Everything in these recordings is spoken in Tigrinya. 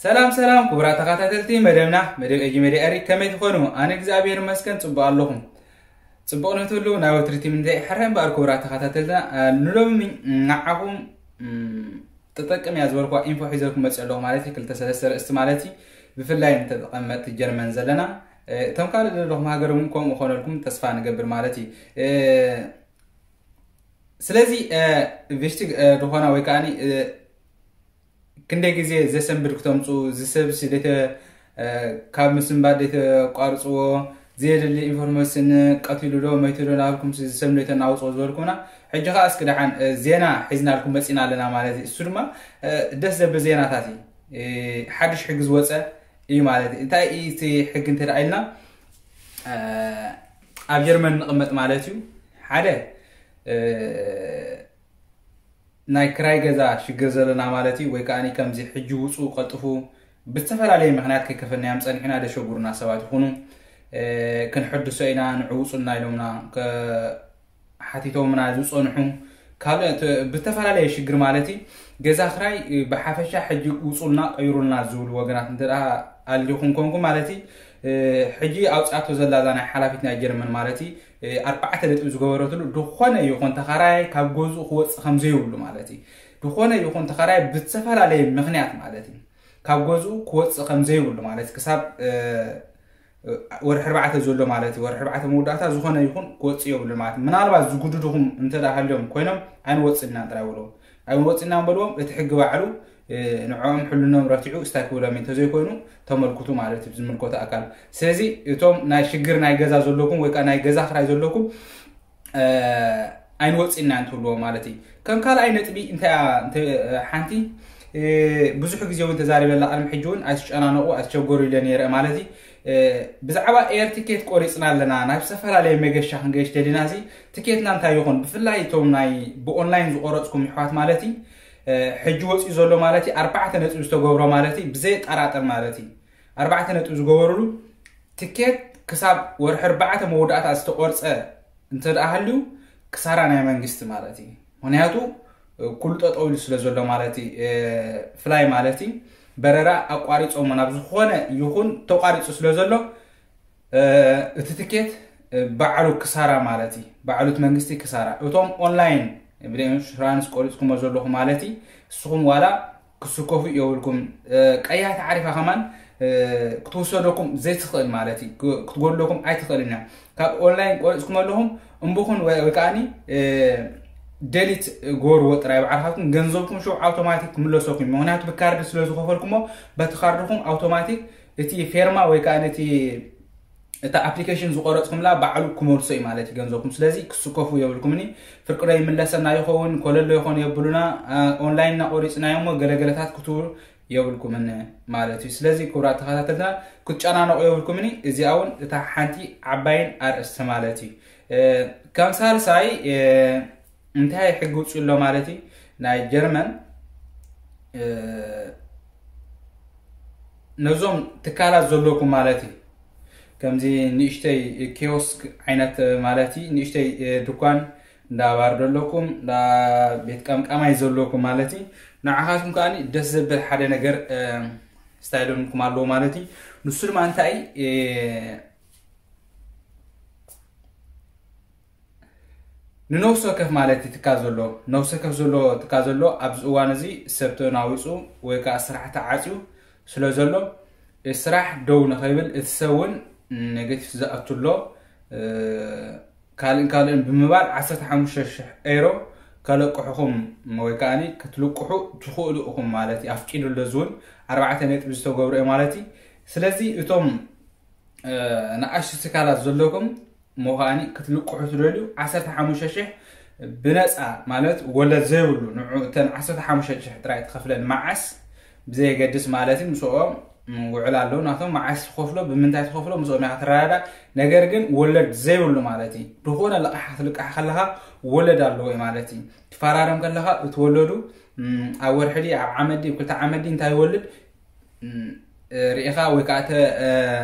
ሰላም ሰላም ክቡራት ተኸታተልቲ መደብና፣ መደብ ኤጂ ሜድያ ኤሪ፣ ከመይ ትኾኑ? ኣነ እግዚኣብሔር ይመስገን ጽቡቕ ኣለኹም። ጽቡቕ ንትህሉ ናይ ወትሪ ቲም እንተ ይሕረ እምበኣር ክቡራት ተኸታተልትና፣ እ፣ ንሎሚ ንዓኹም፣ እም፣ ጥጠቅም እያ ዝበልኩዋ ኢንፎ ሒዘልኩም መጽእ ኣለኹ ማለት እዩ። ክልተ ሰለስተ ርእስቲ ማለት እዩ። ብፍላይ ንተቐመጥቲ ጀርመን ዘለና፣ እ፣ እቶም ካልእ ዘለኹም ሃገር እውን ከምኡ ክኾነልኩም ተስፋ ንገብር ማለት እዩ። እ፣ ስለዚ፣ እ፣ ቪሽቲ፣ እ፣ ዝኾና ወይ ከዓኒ፣ እ፣ ክንደይ ግዜ ዘሰንብድ ክተምፁ፣ ዝሰብሲ ደተ፣ እ፣ ካብ ምስንባድ ደተቋርፅዎ፣ ዘየድሊ ኢንፎርሜሽን ቀቲሉ ዶ መይቱ ዶ ናብልኩም ዝሰብ ደተናውፅዎ ዝበልኩምና፣ ሕጂ ከዓ እስኪ ደሓን፣ እ፣ ዜና ሒዝናልኩም መፂና ኣለና ማለት እዩ። እሱ ድማ፣ እ፣ ደስ ዘብል ዜናታት እዩ። እ፣ ሓድሽ ሕጊ ዝወፀ እዩ ማለት እዩ። እንታይ እዩ እቲ ሕጊ እንተ ደኣ ኢልና፣ እ፣ ኣብ ጀርመን ንቕመጥ ማለት እዩ። ሓደ፣ እ፣ ናይ ክራይ ገዛ ሽግር ዘለና ማለት እዩ፣ ወይ ከዓኒ ከምዚ ሕጂ ውፁ ቀልጥፉ ብዝተፈላለየ ምኽንያት ከይከፈልናዮም ፀኒሕና ደሸጉሩና ሰባት ይኹኑ፣ እ፣ ክንሕድሶ ኢና ንዕውፁና ኢሎምና ከ-፣ ሓቲቶምና ዝፀንሑ ካልኦት ብዝተፈላለየ ሽግር ማለት እዩ። ገዛ ክራይ ብሓፈሻ ሕጂ ውፁልና ቀይሩልና ዝብሉ ወገናት እንተ ደኣ ኣሊኹም ኮንኩም ማለት እዩ፣ እ፣ ሕጂ ኣውፅኣቶ ዘላ እዛ ናይ ሓላፊት ናይ ጀርመን ማለት እዩ፣ እ፣ ኣርባዕተ ነጥቢ ዝገበረትሉ ዝኾነ ይኹን ተኻራይ ካብ ገዝኡ ክወፅእ ከም ዘይብሉ ማለት እዩ። ዝኾነ ይኹን ተኻራይ ብዝተፈላለየ ምኽንያት ማለት እዩ ካብ ገዝኡ ክወፅእ ከም ዘይብሉ ማለት እዩ። ክሳብ፣ እ፣ ወርሒ ኣርባዕተ ዘሎ ማለት እዩ። ወርሒ ኣርባዕተ መወዳእታ ዝኾነ ይኹን ክወፅእ የብሉ ማለት እዩ። ምናልባት ዝጉድድኹም እንተ ደኣ ሃልዮም ኮይኖም ኣይንወፅእናን ጥራይ በልዎም። ኣይንወፅእናን በልዎም። እቲ ሕጊ ባዕሉ፣ እ፣ ንዕኦም ሕልኖም ረቲዑ እስታይ ክብሎም እዩ። እንተዘይኮይኑ ተመልክቱ ማለት እዩ ዝምልከቶ ኣካል። ስለዚ እቶም ናይ ሽግር ናይ ገዛ ዘለኩም ወይ ከዓ ናይ ገዛ ክራይ ዘለኩም፣ እ፣ ኣይንወፅእናን ትብልዎ ማለት እዩ። ከም ካልኣይ ነጥቢ እንታይ እያ፣ እንተ-፣ ሓንቲ፣ እ፣ ብዙሕ ግዜ እውን ተዛሪበላ፣ ቅድሚ ሕጂ እውን ኣይትጨናነቑ፣ ኣይትሸገሩ ኢለ ነይረ ማለት እዩ። እ፣ ብዛዕባ ኤር ቲኬት ቆሪፅና ኣለና፣ ናብ ዝተፈላለየ መገሻ ክንገይሽ ደሊና፣ እዚ ቲኬትና እንታይ ይኹን፣ ብፍላይ እቶም ናይ ብኦንላይን ዝቆረፅኩም ይሕዋት ማለት እዩ፣ እ፣ ሕጂ ወፂኡ ዘሎ ማለት እዩ፣ ኣርባዕተ ነጥቢ ዝተገብሮ ማለት እዩ፣ ብዘየጠራጥር ማለት እዩ፣ ኣርባዕተ ነጥቢ ዝገበሩሉ ቲኬት ክሳብ ወርሒ ኣርባዕተ መወዳእታ ዝተቆርፀ እንተ ደኣ ሃልዩ፣ ክሳራ ናይ መንግስቲ ማለት እዩ። ምኽንያቱ፣ እ፣ ኩሉ ጠጠው ኢሉ ስለ ዘሎ ማለት እዩ፣ እ፣ ፍላይ ማለት እዩ። በረራ ኣቋሪፆሞ ናብ ዝኾነ ይኹን ተቋሪፁ ስለ ዘሎ፣ እ፣ እቲ ትኬት፣ እ፣ ባዕሉ ክሳራ ማለት እዩ። ባዕሉ እቲ መንግስቲ ክሳራ። እቶም ኦንላይን ብኢንሹራንስ ቆሪፅኩሞ ዘለኹም ማለት እዩ። ንስኹም ዋላ ክስከፉ የብልኩም። እ፣ ቀያሕ ተዓሪፋ ከማን፣ እ፣ ክትውሰደኩም ዘይትኽእል ማለት እዩ። ክ-፣ ክትጎድለኩም ኣይትኽእልን እያ። ካብ ኦንላይን ቆሪፅኩም ኣለኹም፣ እምብኹን ወይ፣ ወይ ከዓኒ፣ እ፣ ደሊት ጎርዎ ጥራይ ባዕልኻትኩም፣ ገንዘብኩም ሽዑ ኣውቶማቲክ ክምለሰኩም እዩ። ምኽንያቱ ብካርድ ስለ ዝኸፈልኩሞ፣ በቲ ካርድኹም ኣውቶማቲክ እቲ ፌርማ ወይ ከዓኒ እቲ፣ እታ ኣፕሊኬሽን ዝቆረፅኩምላ ባዕሉ ክመልሶ እዩ ማለት እዩ ገንዘብኩም። ስለዚ ክስከፉ የብልኩምኒ። ፍርቂ ዶ ይምለሰና ይኸውን፣ ኮለል ዶ ይኾን የብሉና፣ እ፣ ኦንላይን እናቆሪፅናዮ እሞ ገለገለታት ክትብሉ የብልኩምን ማለት እዩ። ስለዚ ክቡራት ተኸታተልትና ክትጨናነቑ የብልኩምኒ። እዚኣ እውን እታ ሓንቲ ዓባይን ኣርእስቲ ማለት እዩ። እ፣ ከም ሳልሳይ፣ እ፣ እንታይ ሕጊ ውፅኡ ኣሎ ማለት እዩ ናይ ጀርመን፣ እ፣ ነዞም ትካላት ዘለኩም ማለት እዩ። ከምዚ ንእሽተይ ኪዮስክ ዓይነት ማለት እዩ፣ ንእሽተይ፣ እ፣ ድኳን እንዳ ባር ዘለኩም፣ እንዳ ቤት ቀምቃማይ ዘለኩም ማለት እዩ። ንዓኻትኩም ከኣ ደስ ዘብል ሓደ ነገር፣ እ፣ ስታይል ኦንኩም ኣለዎ ማለት እዩ። ንሱ ድማ እንታይ፣ እ፣ ንነፍሲ ወከፍ ማለት እዩ ትካል ዘሎ፣ ነፍሲ ወከፍ ዘሎ ትካል ዘሎ ኣብዚ እዋን እዚ ሰብ ተናዊጹ ወይ ከኣ ስራሕ ተዓጽዩ ስለ ዘሎ፣ እቲ ስራሕ ደው ንኸይብል እቲ ሰብ እውን ኔጌቲቭ ዝኣቱ ኣሎ። እ፣ ካልእን ካልእን ብምባል ዓሰርተ ሓሙሽተ ሽሕ ኤሮ ከለቅሑኹም ወይ ከኣ ክትልቅሑ ትኽእሉ ኢኹም ማለት እዩ። ኣፍቂዱ ኣሎ፣ እዚ እውን ኣርባዕተ ነጥቢ ዝተገብረ እዩ ማለት እዩ። ስለዚ እቶም፣ እ፣ ንኣሽቱ ትካላት ዘለኩም እሞ ከኣ ክትልቅሑ ትደልዩ ዓሰርተ ሓሙሽተ ሽሕ ብነፃ ማለት ወለድ ዘይብሉ ንዑ እተን ዓሰርተ ሓሙሽተ ሽሕ ጥራይ ትኸፍለን መዓስ ብዘየገድስ ማለት እዩ። ምስኦም ውዕል ኣለዉ ናቶም። መዓስ ትኸፍሎ፣ ብምንታይ ትኸፍሎ ምስኦም ኢኻ ትረዳዳእ። ነገር ግን ወለድ ዘይብሉ ማለት እዩ። ዝኾነ ልቓሕ ክትልቃሕ ከለኻ ወለድ ኣለዎ እዩ ማለት እዩ። ትፈራረም ከለኻ እቲ ወለዱ፣ ም፣ ኣብ ወርሒ ድዩ ኣብ ዓመት ድዩ ክልተ ዓመት ድዩ እንታይ ይወልድ፣ ም፣ እ፣ ርኢኻ ወይ ከዓ ተ-፣ እ፣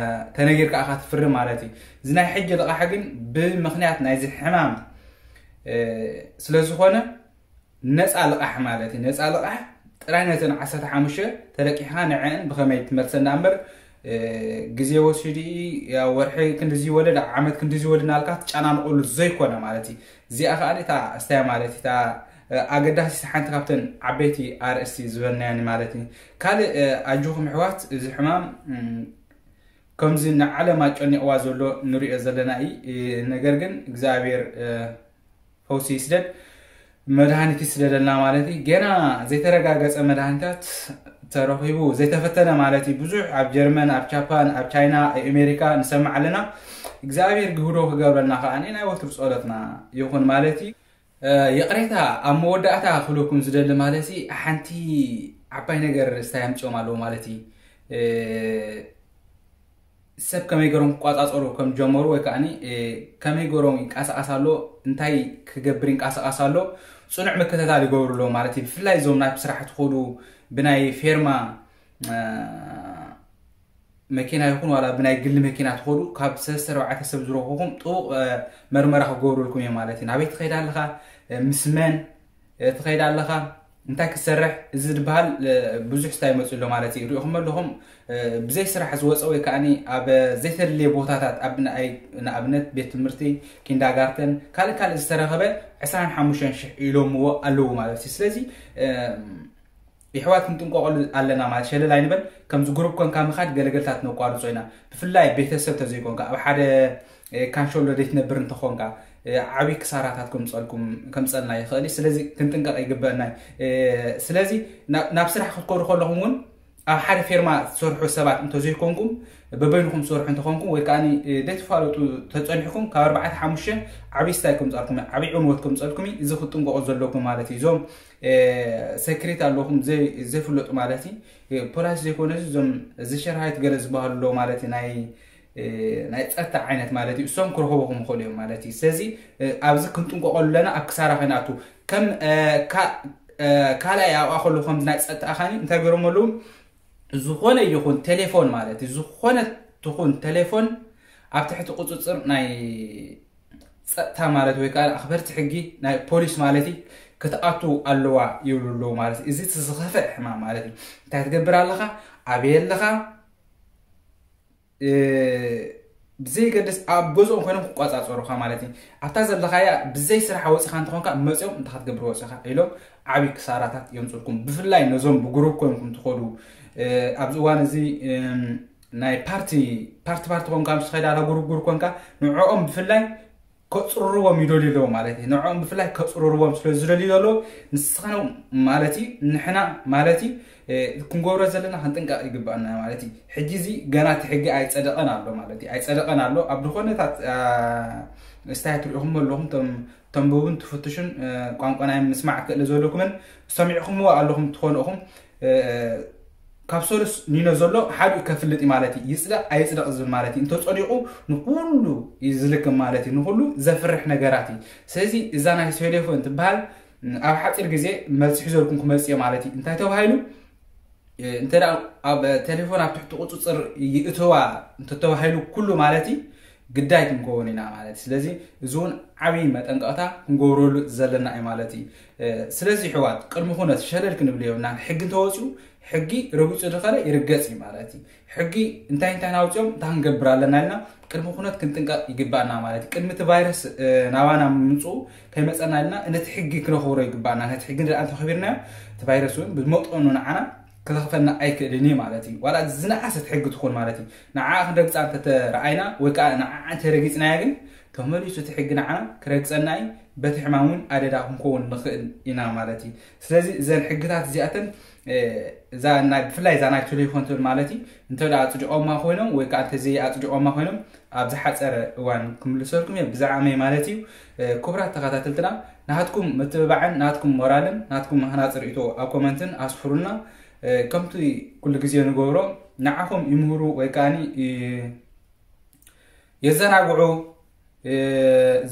ተነጊርካ ኢኻ ትፍርም ማለት እዩ። እዚ ናይ ሕጂ ልቓሕ ግን ብምኽንያት ናይዚ ሕማም፣ እ፣ ስለ ዝኾነ ነፃ ልቓሕ ማለት እዩ። ነፃ ልቓሕ ጥራይ ነተን ዓሰርተ ሓሙሽተ ተለቂሕካ ንዐን ብኸመይ ትመልሰን ደኣ እምበር ግዜ ወሲዱ፣ ወርሒ ክንድዚ ይወለድ፣ ዓመት ክንድዚ ይወለድ እናልካ ትጨናንቆሉ ዘይኮነ ማለት እዩ። እዚኣ ከዓ እታ እስታያ ማለት እታ ኣገዳሲት ሓንቲ ካብተን ዓበይቲ ኣርእስቲ ዝበልናያን ማለት እዩ። ካልእ ኣጆኹም ኣሕዋት፣ እዚ ሕማም ከምዚ ንዓለም ኣጨኒቕዋ ዘሎ ንሪኦ ዘለና እዩ። ነገር ግን እግዚኣብሔር ፈውሲ ይስደድ፣ መድሃኒት ይስደደልና ማለት እዩ። ገና ዘይተረጋገፀ መድሃኒታት ተረኺቡ ዘይተፈተነ ማለት እዩ። ብዙሕ ኣብ ጀርመን፣ ኣብ ጃፓን፣ ኣብ ቻይና፣ ኣብ ኣሜሪካ ንሰምዕ ኣለና። እግዚኣብሔር ግህዶ ክገብረልና ከዓ ናይ ወትሩ ፀሎትና ይኹን ማለት እዩ። ይቕሬታ ኣብ መወዳእታ ክብለኩም ዝደሊ ማለት እዩ፣ ሓንቲ ዓባይ ነገር ስታይ ኣምፅኦም ኣለዎ ማለት እዩ። ሰብ ከመይ ገሮም ክቋፃፀሩ ከም ጀመሩ ወይ ከዓ ከመይ ገሮም ይንቀሳቀስ ኣሎ፣ እንታይ ክገብር ይንቀሳቀስ ኣሎ፣ ፅኑዕ ምክትታል ይገብሩ ኣለዉ ማለት እዩ። ብፍላይ እዞም ናብ ስራሕ ትኸዱ ብናይ ፌርማ መኪና ይኹን ዋላ ብናይ ግሊ መኪና ትኸዱ፣ ካብ ሰለስተ ኣርባዕተ ሰብ ዝረኽኹም ጥቡቕ መርመራ ክገብሩልኩም እዮም ማለት እዩ። ናበይ ትኸይድ ኣለኻ፣ ምስ መን ትኸይድ ኣለኻ፣ እንታይ ክትሰርሕ፣ እዚ ዝበሃል ብዙሕ ስታይ ይመፅእ ኣሎ ማለት እዩ። ሪኢኹም ኣለኹም፣ ብዘይ ስራሕ ዝወፀ ወይ ከዓ ኣብ ዘይተደለየ ቦታታት፣ ኣብ ንኣብነት ቤት ትምህርቲ፣ ኪንዳጋርተን፣ ካልእ ካልእ ዝተረኸበ ዕስራን ሓሙሽተን ሽሕ ኢሎምዎ ኣለዉ ማለት እዩ። ስለዚ የሕዋት ክንጥንቀቐሉ ኣለና ማለት ሸለል ኣይንበል። ከምዚ ግሩፕ ኮንካ ምኻድ ገለገልታት ነቋርጾ ኢና። ብፍላይ ቤተሰብ ተዘይኮንካ፣ ኣብ ሓደ ካንሸሎ ዘይትነብር እንተኾንካ፣ ዓብዪ ክሳራታት ከምፀልና ይኽእል እዩ። ስለዚ ክንጥንቀቕ ይግበአና እዩ። ስለዚ ናብ ስራሕ ክትከዱ ከለኹም እውን ኣብ ሓደ ፌርማ ትሰርሑ ሰባት እንተዘይኮንኩም፣ በበይንኹም ትሰርሑ እንተኾንኩም ወይ ከዓ ዘይትፋለጡ ተፀኒሕኩም፣ ካብ ኣርባዕተ ሓሙሽተ ዓብዪ ስታይ ከምፀልኩም፣ ዓብዪ ዕንወት ከምፀልኩም እዩ። እዚ ክትጥንቀቑ ዘለኩም ማለት እዩ። እዞም ሰክሬት ኣለኹም ዘይፍለጡ ማለት እዩ። ፖላይስ ዘይኮነ እዞም ዝሸርሃይት ገለ ዝበሃሉ ኣለዉ ማለት እዩ። ናይ ናይ ፀጥታ ዓይነት ማለት እዩ። እሶም ክረኽበኹም ይኽእሉ እዮም ማለት እዩ። ስለዚ ኣብዚ ክንጥንቀቐሉ ኣለና፣ ኣብ ክሳራ ከይንኣቱ። ከም ካልኣይ ኣብኣ ከሎ ከምዚ ናይ ፀጥታ ኣኻኒ እንታይ ገይሮም ኣለዉ፣ ዝኾነ ይኹን ቴሌፎን ማለት እዩ፣ ዝኾነ ትኹን ቴሌፎን ኣብ ትሕቲ ቁፅፅር ናይ ፀጥታ ማለት ወይ ከዓ ኣኽበርቲ ሕጊ ናይ ፖሊስ ማለት እዩ ክትኣቱ ኣለዋ ይብሉ ኣለዉ ማለት እዩ። እዚ ዝኸፍእ ሕማም ማለት እዩ። እንታይ ትገብር ኣለኻ፣ ኣበይ ኣለኻ፣ ብዘይገድስ ኣብ ገዝኦም ኮይኖም ክቋፃፀሩኻ ማለት እዩ። ኣብታ ዘለኻያ ብዘይ ስራሕ ወፂኻ እንተኾንካ መፂኦም እንታይ ክትገብር ወፂኻ ኢሎም ዓብዪ ክሳራታት የምፅልኩም። ብፍላይ ነዞም ብግሩፕ ኮይንኩም ትኸዱ ኣብዚ እዋን እዚ ናይ ፓርቲ ፓርቲ ፓርቲ ኮንካ ምስ ትኸይድ ኣላ ግሩፕ ግሩፕ ኮንካ ንዕኦም ብፍላይ ከፅርርዎም ይደልዩ ኣለዉ ማለት እዩ። ንዕኦም ብፍላይ ከፅርርዎም ስለ ዝደልዩ ዘለዉ ንስኻኖም ማለት እዩ ንሕና ማለት እዩ ክንገብሮ ዘለና ክንጥንቀቕ ይግባኣና ማለት እዩ። ሕጂ እዚ ገና እቲ ሕጊ ኣይፀደቐን ኣሎ ማለት እዩ። ኣይፀደቐን ኣሎ ኣብ ዝኾነታት ስታይ ትሪኢኹም ኣለኹም ተንብቡን ትፍትሹን ቋንቋ ናይ ምስማዕ ክእለ ዘለኩምን ሰሚዕኹምዎ ኣለኹም ትኾኑ ኢኹም። ካብ ሰሉስ ኒኖ ዘሎ ሓዲኡ ከፍልጥ እዩ ማለት እዩ። ይፅደቕ ኣይፅደቕ ዝብል ማለት እዩ። እንተፀዲቑ ንኩሉ እዩ ዝልክም ማለት እዩ። ንኩሉ ዘፍርሕ ነገራት እዩ። ስለዚ እዛ ናይ ቴሌፎን ትበሃል ኣብ ሓፂር ግዜ መልሲ ሒዘልኩም ክመፅእ እየ ማለት እዩ። እንታይ ተባሂሉ እንተ ኣብ ቴሌፎን ኣብ ትሕቲ ቁፅፅር ይእተዋ እንተተባሂሉ ኩሉ ማለት እዩ ግዳይ ክንከውን ኢና ማለት እዩ። ስለዚ እዚ እውን ዓብዪ መጠንቀቕታ ክንገብረሉ ዘለና እዩ ማለት እዩ። ስለዚ ኣሕዋት ቅድሚ ኩነት ሸለል ክንብል የብልናን። ሕጊ እንተወፂኡ ሕጊ ረጊፁ ዝኸደ ይርገፅ እዩ ማለት እዩ። ሕጊ እንታይ እንታይ ናውፅኦም እንታይ ክንገብር ኣለና ኢልና ቅድሚ ኩነት ክንጥንቀቕ ይግባኣና ማለት እዩ። ቅድሚ እቲ ቫይረስ ናባና ምምፅኡ ከይመፀና ኢልና ነቲ ሕጊ ክነኽብሮ ይግባኣና። ነቲ ሕጊ እንተ ኣንተኸቢርናዮ እቲ ቫይረስ እውን ብመጠኑ ንዓና ክለኽፈና ኣይክእልን እዩ ማለት እዩ። ዋላ ዝነኣሰት ሕጊ ትኹን ማለት እዩ። ንዓ ክንረግፃ እንተተረኣይና ወይ ከዓ ንዓ እንተረጊፅናያ ግን ተመሊሱ እቲ ሕጊ ንዓና ክረግፀና እዩ። በቲ ሕማም እውን ኣደዳ ክንከውን ንኽእል ኢና ማለት እዩ። ስለዚ እዘን ሕግታት እዚኣተን እዛ ናይ ብፍላይ እዛ ናይ ቴሌፎን ትብል ማለት እዩ እንተ ኣፅዲቖማ ኮይኖም ወይ ከዓ እንተዘይ ኣፅዲቖማ ኮይኖም ኣብ ዝሓፀረ እዋን ክምልሰልኩም እየ ብዛዕመይ ማለት እዩ። ክቡራት ተኸታተልትና ናትኩም ምትብባዕን ናትኩም ሞራልን ናትኩም ሃናፂ ርእቶ ኣብ ኮመንትን ኣስፍሩልና። ከምቲ ኩሉ ግዜ ንገብሮ ንዓኹም ይምህሩ ወይ ከዓኒ የዘናግዑ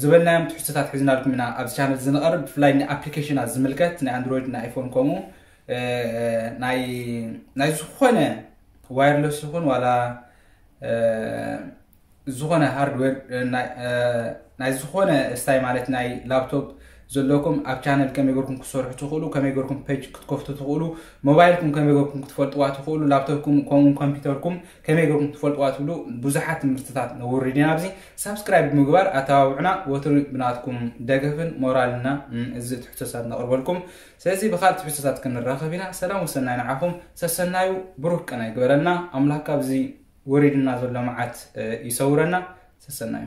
ዝበልናዮም ትሕዝቶታት ሒዝናልኩም ኢና ኣብዚ ቻነል እዚ ንቐርብ። ብፍላይ ንኣፕሊኬሽናት ዝምልከት ናይ ኣንድሮይድ ናይ ኣይፎን ከምኡ ናይ ዝኾነ ዋየርለስ ይኹን ዋላ ዝኾነ ሃርድዌር ናይ ዝኾነ ስታይ ማለት ናይ ላፕቶፕ ዘለኩም ኣብ ቻነል ከመይ ገርኩም ክትሰርሑ ትኽእሉ፣ ከመይ ገርኩም ፔጅ ክትከፍቱ ትኽእሉ፣ ሞባይልኩም ከመይ ገርኩም ክትፈልጥዋ ትኽእሉ፣ ላፕቶፕኩም ከምኡ ኮምፒውተርኩም ከመይ ገርኩም ክትፈልጥዋ ትብሉ ብዙሓት ትምህርትታት ነውርድ ኢና። ኣብዚ ሳብስክራይብ ብምግባር ኣተባብዑና። ወትሩ ብናትኩም ደገፍን ሞራልና እዚ ትሕቶታት ነቕርበልኩም። ስለዚ ብኻልእ ትሕቶታት ክንራኸብ ኢና። ሰላም ወሰናይ ንዓኹም። ሰሰናዩ ብሩህ ቀናይ ግበረልና ኣምላኽ። ካብዚ ወሪድና ዘሎ መዓት ይሰውረና። ሰሰናዩ።